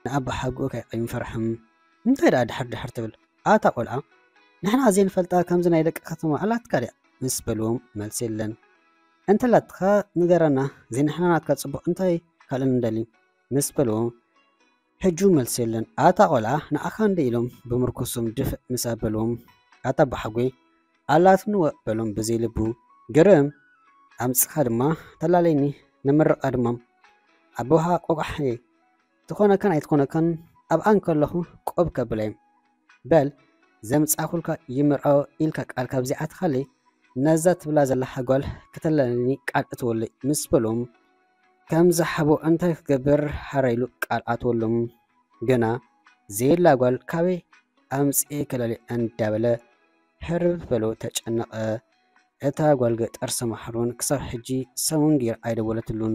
ንኣባሓጎ ከይፈርሕም እንታይ ደኣ ድሕር ድሕር ትብል ኣታ ቆልዓ? ንሕና ዘይንፈልጣ ከምዚ ናይ ደቂ ከተማ ኣላትካ ድያ ምስ በልዎም መልሲ የለን። እንተላትካ ንገረና፣ ዘይንሕና ናትካ ጽቡቕ እንታይ ካልእ ንደሊ ምስ በልዎም ሕጂ መልሲ የለን። ኣታ ቆልዓ ንኣኻ እንደ ኢሎም ብምርኩሶም ድፍእ ምስ ኣበልዎም ኣታ ኣባሓጎይ ኣላትኒ ወ በሎም ብዘይ ልቡ። ግርም ኣምጽኻ ድማ ተላለይኒ ንምርቓ ድማ ኣቦኻ ቆቋሕ እየ። ትኾነካን ኣይትኾነካን ኣብኣ እንከለኹ ቆብ ከብለይ በል ዘምጻኹልካ ይምርዖ ኢልካ ቃል ካብዚኣትኻለይ ነዛ ትብላ ዘላ ሓጓል ከተለኒ ቃል እትወለይ ምስ በሎም ከም ዝሓቦ እንታይ ክገብር ሓራ ኢሉ ቃል ኣትወሎም። ግና ዘየላ ጓል ካበይ ኣምጽኤ ከለሊ እንዳበለ ሕርብ በሎ ተጨነቐ። እታ ጓል ገጠር ሰማሕሮን ክሳብ ሕጂ ሰሙን ገይር ኣይደወለትሉን።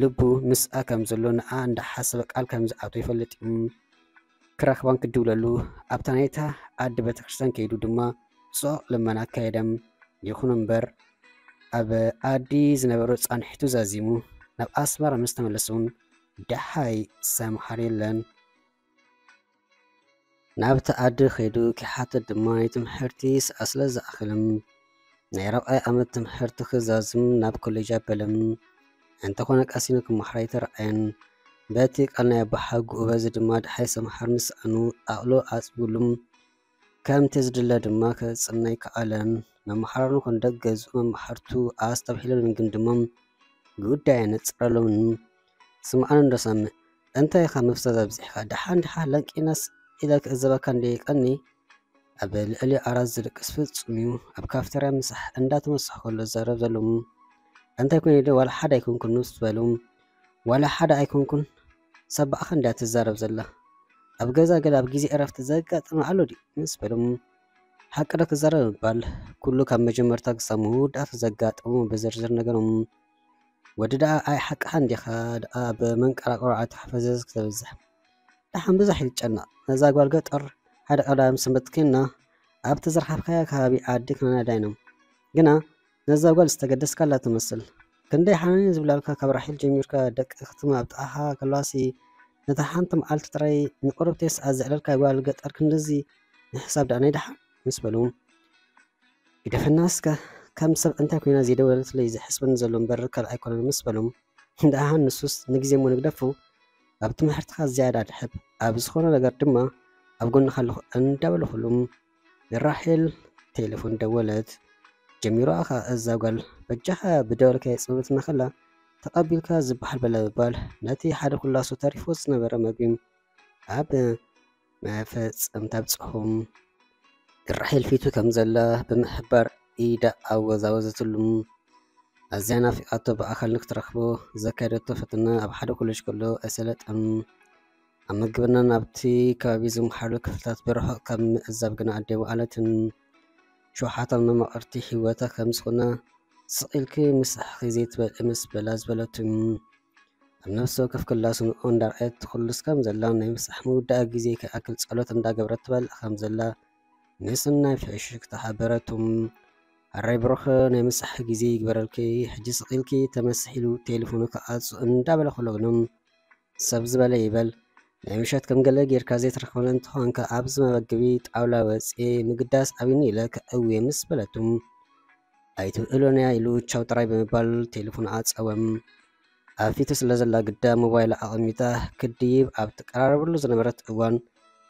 ልቡ ምስኣ ከም ዘሎ ንኣ እንዳሓሰበ ቃል ከም ዝኣቶ ይፈልጥ እዩ። ክረኽባን ክድውለሉ ኣብታ ናይታ ኣዲ ቤተክርስትያን ከይዱ ድማ ጽዑቕ ልመና ኣካየደ። ይኹን እምበር ኣብ ኣዲ ዝነበሮ ጻንሒቱ ዛዚሙ ናብ ኣስመራ ምስ ተመለሰ እውን ደሓይ ሰምሃር የለን። ናብቲ ኣዲ ከይዱ ክሓትት ድማ ናይ ትምህርቲ ሰኣ ስለ ዝኣኽልም ናይ ራብዓይ ዓመት ትምህርቲ ክዛዝም ናብ ኮሌጅ ኣበለም። እንተኾነ ቀሲኑ ክመሓር ኣይተረኣየን። በቲ ቃል ናይ ኣባሓጉኡ በዚ ድማ ደሓይ ሰምሃር ምስኣኑ ኣቕሎ ኣጽቢሉም ከምቲ ዝድለ ድማ ከጽንዕ ኣይከኣለን። መመሓራኑ ክንደቅ ገዝኡ መማሕርቱ ኣስተብሂሎምን ግን ድማ ጉዳይ ኣነጽረሎምን። ስምዓኒ እንዶ ሳሚ፣ እንታይ ኢኻ ምፍዛዝ ኣብዚሕካ? ደሓን ዲኻ? ለንቂናስ ኢለ ክእዘበካ እንደ ቀኒ ኣብ ልዕሊ ኣራት ዝድቅስ ፍጹም እዩ። ኣብ ካፍተርያ ምሳሕ እንዳተመሳሕ ከሎ ዝዛረብ ዘሎ እንታይ ኮይኑ ዶ ዋላ ሓደ ኣይኮንኩን ምስ በሉ ዋላ ሓደ ኣይኮንኩን ሰባእኻ እንድያ ትዛረብ ዘላ። ኣብ ገዛ ገለ ኣብ ግዜ ዕረፍቲ ዘጋጥም ኣሎ ድዩ ምስ በሉ ሓቂ ዶ ክዛረብ ምባል ኩሉ ካብ መጀመርታ ክሳብ መወዳእታ ዘጋጠሙ ብዝርዝር ነገሮም። ወዲ ደኣ ኣይ ሓቅኻ እንዲኻ ደኣ ኣብ መንቀራቅሮ ኣትኻ ፈዘዝ ክተብዝሕ። ደሓን ብዙሕ ይጨነቕ። ነዛ ጓል ገጠር ሓደ ቀዳም ሰንበት ኬንና ኣብቲ ዝረኸብካያ ከባቢ ዓዲ ክንነዳ ኢና። ግና ነዛ ጓል ዝተገደስካላ ትመስል። ክንደይ ሓናኒ ዝብላልካ ካብ ራሒል ጀሚርካ ደቂ ክትማ ኣብ ጥቓኻ ከለዋሲ ነታ ሓንቲ መዓልቲ ጥራይ ንቁርብተይ ሰዓት ዘዕለልካ ጓል ገጠር ክንድዚ ንሕሳብ ደኣ ናይ ደሓን ምስ በሉ ግደፈና እስከ ከም ሰብ እንታይ ኮይና ዘይደወለትለይ ዘሕስበኒ ዘሎ እምበር ካልእ ኣይኮነን ምስ በሉ ደሓን ንሱስ ንግዜ እሞ ንግደፎ ኣብ ትምህርትኻ ዝያዳ ድሕብ ኣብ ዝኾነ ነገር ድማ ኣብ ጎንኻ ኣለኹ እንዳበልኩሉም ንራሄል ቴሌፎን ደወለት። ጀሚሮኣ ኸኣ እዛ ጓል በጃኻ ብደወልካዮ ጽምብልና ከላ ተቐቢልካ ዝበሃል በለ ምባል ነቲ ሓደ ኩላሱ ተሪፎ ዝነበረ መግቢ ኣብ መፈጸምታ ኣብጽሑ። ራሄል ፊቱ ከም ዘላ ብምሕባር ኢዳ ኣወዛወዘትሉ። ኣዝያ ናፊቓቶ ብኣካል ንክትረኽቦ ዘካየደቶ ፈተነ ኣብ ሓደ ኮሌጅ ከሎ ኣይሰለጠን። ኣብ ምግብና ናብቲ ከባቢ ዝመሓሉ ክፍልታት ብርሑቕ ካብ ምዕዛብ ግና ኣደይ ወዓለትን። ሸውሓታን መማቕርቲ ህይወታ ከም ዝኾነ ስቕ ኢልኪ ምሳሕኺ ዘይትበልዒ ምስ በላ ዝበለቱ ኣብ ነፍሲ ወከፍ ክላሱ ንኡ እንዳርኣየት ትኹልስ ከም ዘላ ናይ ምሳሕ ምውዳእ ግዜ ከይኣክል ጸሎት እንዳገበረት ትበልዕ ከም ዘላ ምስናይ ፍሽክታ ሓበረቱ። ኣራይ ብሩኽ ናይ ምሳሕ ግዜ ይግበረልኪ፣ ሕጂ ስቕ ኢልኪ ተመስሕ ኢሉ ቴሌፎኑ ክዓጹ እንዳበለ ከሎ ግና ሰብ ዝበለ ይበል ናይ ምሸት ከም ገለ ጌርካ ዘይትረኽበኒ እንተኾንካ ኣብዚ መመገቢ ጣውላ ወጽየ ምግዳስ ኣብዩኒ ኢለ ከእውየ ምስ በለቱ ኣይትብእሎንያ ኢሉ ቻው ጥራይ ብምባል ቴሌፎኑ ዓጸወ። ኣብ ፊቱ ስለ ዘላ ግዳ ሞባይላ ኣቐሚጣ ክድይብ ኣብ ትቀራረበሉ ዝነበረት እዋን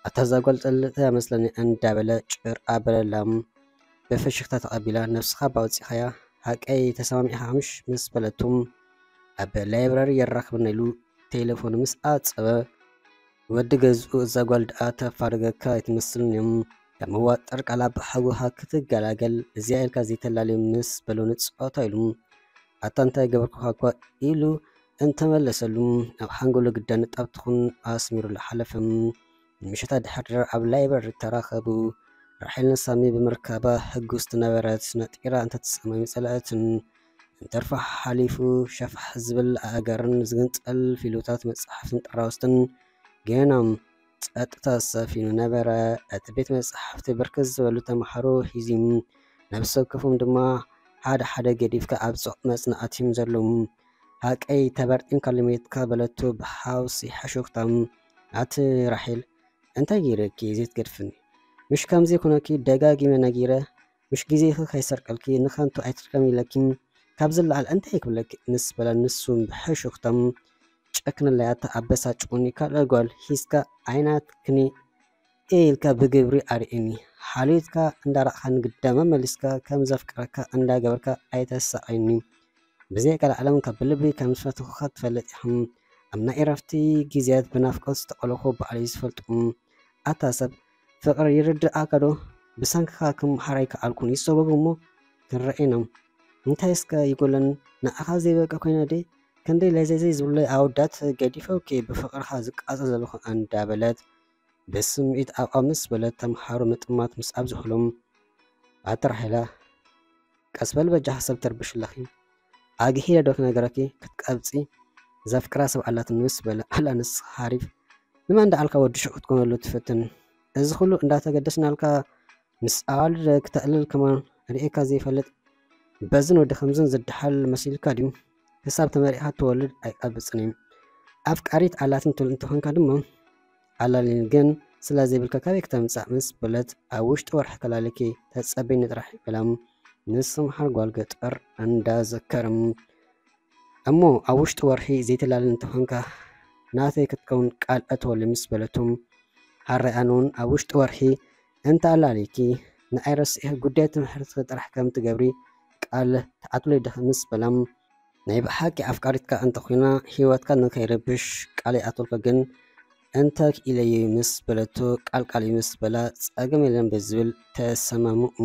ኣታ እዛ ጓል ጠልጥያ መስለኒ እንዳበለ ጭር ኣበለላ። ብፍሽኽታ ተቐቢላ ነብስኻ እባ ኣውጺእኻያ ሓቀይ ተሰማሚዕኻ ምሽ ምስ በለቱ ኣብ ላይብረሪ የራኽበና ኢሉ ቴሌፎኑ ምስ ዓጸወ ወዲ ገዝኡ እዛ ጓል ደኣ ተፋርገካ ኣይትመስልን እያ። ካብ መዋጠር ቃል ኣባሓጎኻ ክትገላገል እዚኣ ኢልካ ዘይተላልዮ ምስ በሎ ንጽወታ ኢሉ ኣታ እንታይ ገበርኩኻ እኳ ኢሉ እንተመለሰሉ ኣብ ሓንጎሉ ግዳ ንጣብ ትኹን ኣስሚሩሉ ሓለፈ። ንምሸት ኣድሕር ኣብ ላይብረሪ ተራኸቡ። ራሄል ንሳሚ ብምርካባ ሕጉስቲ ነበረት። ነጢራ እንተትስእኖ ኣይምጸለአትን። እንተርፋ ሓሊፉ ሸፋሕ ዝብል ኣእጋርን ዝግንጸል ፊሉታት መጻሕፍትን ጠራውስትን ገና ጸጥታ ሰፊኑ ነበረ። እቲ ቤት መጻሕፍቲ ብርክት ዝበሉ ተምሃሮ ሒዙ ነብሲ ወከፎም ድማ ሓደ ሓደ ገዲፍካ ኣብ ጽዑቕ መጽናዕቲ እዮም ዘለዉ። ሓቀይ ተበርጢምካ ልሜትካ በለቶ ብሓውሲ ሕሹኽታም። ኣቲ ራሄል፣ እንታይ ገይረኪ ዘይትገድፍኒ? ምሽ ከምዚ ኩነኪ ደጋጊመ ነጊረ፣ ምሽ ግዜኺ ከይሰርቀልኪ ንኸንቱ ኣይትርከም ኢለኪ፣ ካብ ዝለዓል እንታይ ክብለኪ? ምስ በለ ንሱ ብሕሹኽታም ጨክንለይ ኣታ ኣበሳጭቑኒ፣ ካልእ ጓል ሒዝካ ኣይናትክኒ ኢልካ ብግብሪ ኣርእኒ። ሓልዮትካ እንዳራእኻ ንግዳማ መሊስካ ከም ዘፍቅረካ እንዳገበርካ ኣይተሳቐኒ። ብዘይ ቀልዓለም ካብ ብልቢ ከም ዝፈትኹኻ ትፈልጥ ኢኻ። ኣብ ናይ ዕረፍቲ ግዜያት ብናፍቆት ዝተቐለኹ ባዕለይ ዝፈልጡ። ኣታ ሰብ ፍቕሪ ይርድኣካ ዶ? ብሰንክኻ ክመሃር ኣይከኣልኩን። ይሰጎጉ እሞ ክንረኣይና። እንታይ እስከ ይጎለኒ? ንዓኻ ዘይበቂ ኮይነ ድየ? ክንደይ ለዘዘይ ዝብለይ ኣወዳት ገዲፈውኪ ብፍቕርኻ ዝቃጸ ዘለኹ እንዳበለት ብስምዒት ኣቋም ምስ በለት ተምሃሮ ምጥማት ምስ ኣብዝሑሎም ኣቲ ራሄላ ቀስ በል በጃኻ ሰብ ተርብሽ ኣለኺ። ኣግሂደ ዶ ክነገረኪ ክትቀብጺ ዘፍቅራ ሰብ ኣላትኒ ምስ በለ ኣላ ንስኻ ሓሪፍ ንመን ደኣልካ ወዲ ሽዑ ክትኮነሉ ትፍትን። እዚ ኩሉ እንዳተገደስናልካ ምስ ኣዋልድ ክተዕልል ከማን ርእየካ ዘይፈልጥ በዝን ወዲ ከምዝን ዝደሓል መሲልካ ድዩ? ክሳብ ተመሪዕካ ትወልድ ኣይቀብጽን እዩ። ኣፍቃሪት ኣላትን ትብል እንተኾንካ ድማ ኣላልኝ ግን ስለ ዘይብልካ ካበይ ክተምጻእ ምስ በለት ኣብ ውሽጢ ወርሒ ከላልኪ ተጸበይኒ ጥራሕ ይበላ። ንስምሓር ጓል ገጠር እንዳዘከርም እሞ ኣብ ውሽጢ ወርሒ ዘይትላልን እንተኾንካ ናተይ ክትከውን ቃል እተወሉ ምስ በለቱ ሃራይ ኣነ እውን ኣብ ውሽጢ ወርሒ እንተ ኣላሊኪ ንኣይ ረሲኤ ጉዳይ ትምህርትኺ ጥራሕ ከም ትገብሪ ቃል ትኣትወለይ ዲኺ ምስ በላ ናይ ብሓቂ ኣፍቃሪትካ እንተኾይና ህይወትካ ንከይረብሽ ቃል ይኣትወልካ ግን እንተ ክኢለዩ ምስ በለቶ ቃል ቃል ምስ በላ ጸገም የለን ብዝብል ተሰማምኡ።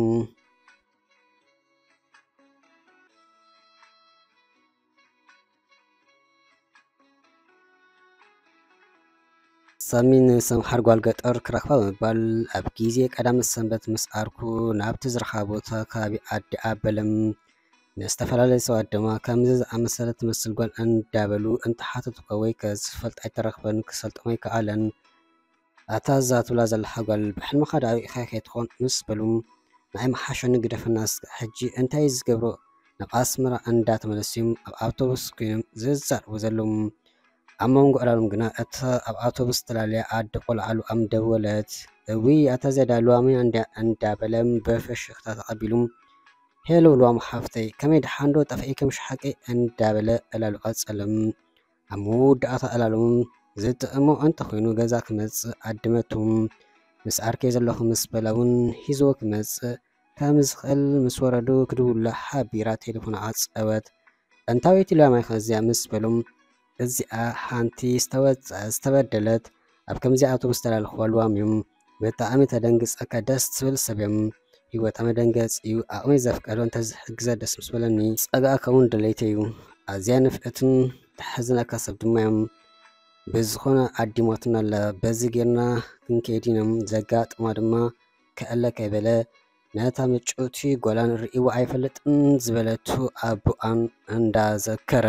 ሳሚ ንሰምሓር ጓል ገጠር ክረኽባ ብምባል ኣብ ግዜ ቀዳመ ሰንበት ምስ ዓርኩ ናብቲ ዝረኸባ ቦታ ከባቢ ዓዲ ኣበለም ንዝተፈላለዩ ሰባት ድማ ከምዚ ዝኣመሰለ ትመስል ጓል እንዳበሉ እንተሓተቱካ ወይ ከ ዝፈልጥ ኣይተረኽበን ክሰልጦም ኣይከኣለን። ኣታ እዛ ትብላ ዘለኻ ጓል ብሕልምኻ ደኣ ርኢኻያ ከይትኾን ምስ በሉ ንኣይ መሓሸኒ ግደፈና እስከ ሕጂ እንታይ እዩ ዝገብሮ ናብ ኣስመራ እንዳተመለሱ እዮም ኣብ ኣውቶቡስ ኮይኖም ዝዛረቡ ዘለዉ ኣብ መንጎ ዕላሎም ግና እታ ኣብ ኣውቶቡስ ተላልያ ኣደ ቆልዓ ልዋም ደወለት እውይ ኣታ እዚኣ ደኣ ልዋመይ እንድያ እንዳበለ ብፍሽኽታ ተቐቢሉ ሄሎ ልዋም ሓፍተይ ከመይ ደሓን ዶ ጠፊእኪ ምሽ ሓቀይ እንዳበለ ዕላሉ ቀጸለ ኣብ መወዳእታ ዕላሎም ዝጥዕሞ እንተኾይኑ ገዛ ክመጽእ ዓደመቱ። ምስ ዓርከይ ዘለኹ ምስ በላ እውን ሒዝዎ ክመጽእ ከም ዝኽእል ምስ ወረዱ ክድውላ ሓቢራ ቴሌፎን ዓጸወት። ጥንታዊት ኢላማይ ከዚኣ ምስ በሎም እዚኣ ሓንቲ ዝተወጸ ዝተበደለት ኣብ ከምዚኣቶም ዝተላለኽዋ ልዋም እዮም። ብጣዕሚ ተደንግጸካ ደስ ትብል ሰብ እዮም። ህይወታ መደንገጺ እዩ። ዓቕመይ ዘፍቀዶ እንተዝሕግዘ ደስ ምስ በለኒ። ጸጋእካ እውን ድሌተይ እዩ። ኣዝያ ንፍዕትን ተሕዝነካ ሰብ ድማ እዮም። ብዝኾነ ዓዲሞትና ኣላ በዚ ጌርና ክንከይድ ኢና ዘጋጥማ ድማ ክዕለ ከይበለ ነታ ምጭውቲ ጓላን ርእይዋ ኣይፈልጥን ዝበለቱ ኣቦኣን እንዳዘከረ